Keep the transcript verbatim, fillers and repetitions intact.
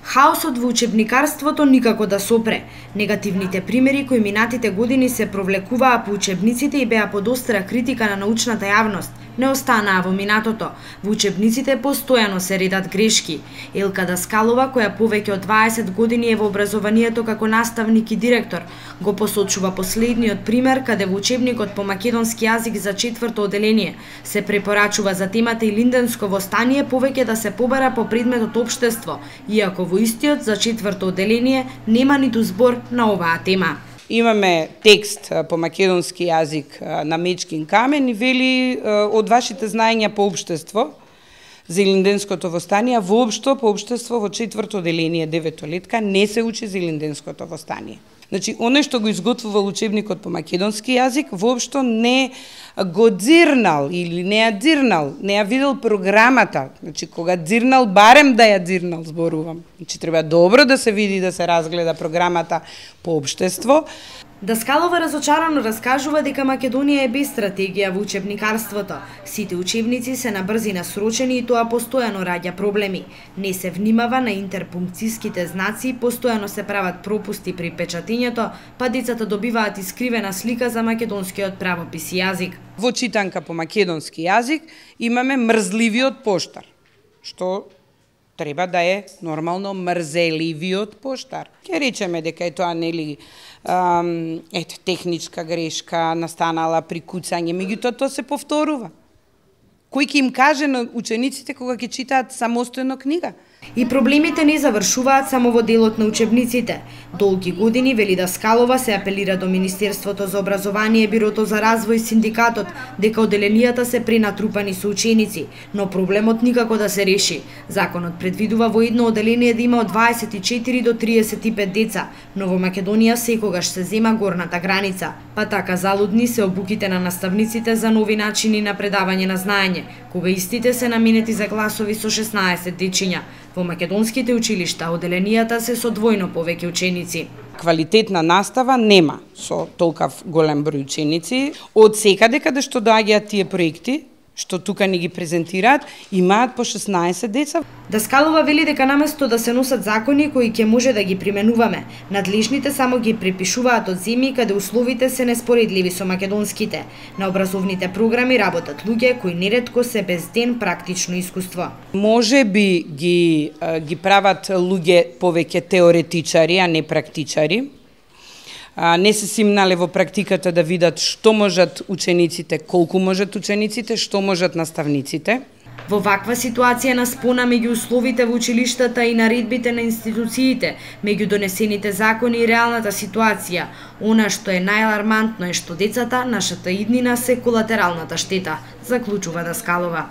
Хаосот во учебникарството никако да сопре. Негативните примери кои минатите години се провлекуваа по учебниците и беа под остра критика на научната јавност, не останаа во минатото. Во учебниците постојано се редат грешки. Елка Даскалова, која повеќе од дваесет години е во образованието како наставник и директор, го посочува последниот пример каде во учебникот по македонски јазик за четврто оделение се препорачува за темата Илинденско востание повеќе да се побара по предметот општество, иако во истиот за четврто оделение нема ниту збор на оваа тема. Имаме текст по македонски јазик на Мечкин камен и вели од вашите знаења по општество за Илинденското востание, воопшто по општество во четврто оделение девето летка не се учи за Илинденското востание. Значи, оној што го изготвувал учебникот по македонски јазик, воопшто не го дзирнал или не ја дзирнал, не ја видел програмата. Значи, кога дзирнал, барем да ја дзирнал, зборувам. Значи, треба добро да се види, да се разгледа програмата по општество. Даскалова разочарано раскажува дека Македонија е без стратегија во учебникарството. Сите учебници се на брзина срочени и тоа постојано раѓа проблеми. Не се внимава на интерпункцијските знаци, постојано се прават пропусти при печатењето, па децата добиваат искривена слика за македонскиот правопис и јазик. Во читанка по македонски јазик имаме мрзливиот поштар, што треба да е нормално мрзеливиот поштар. Ке речеме дека е тоа нели ем, ете техничка грешка настанала при куцање, меѓутоа тоа се повторува. Кој ќе им каже на учениците кога ќе читаат самостојно книга? И проблемите не завршуваат само во делот на учебниците. Долги години, вели Даскалова, се апелира до Министерството за образование, Бирото за развој, синдикатот, дека оделенијата се пренатрупани со ученици, но проблемот никако да се реши. Законот предвидува во едно оделение да има од дваесет и четири до триесет и пет деца, но во Македонија секогаш се зема горната граница. Па така залудни се обуките на наставниците за нови начини на предавање на знаење, кога истите се наменети за класови со шеснаесет дечиња. Во македонските училишта оделенијата се со двојно повеќе ученици. Квалитетна настава нема со толкав голем број ученици. Од секаде каде што доаѓаат тие проекти, што тука ни ги презентираат, имаат по шеснаесет деца. Даскалова вели дека наместо да се носат закони кои ќе може да ги применуваме, надлежните само ги препишуваат од земји каде условите се неспоредливи со македонските. На образовните програми работат луѓе кои неретко се без ден практично искуство. Може би ги ги прават луѓе повеќе теоретичари, а не практичари. Не се симнале во практиката да видат што можат учениците, колку можат учениците, што можат наставниците. Во ваква ситуација на спона меѓу условите во училиштата и наредбите на институциите, меѓу донесените закони и реалната ситуација, она што е најалармантно е што децата, нашата иднина, се колатералната штета, заклучува Даскалова.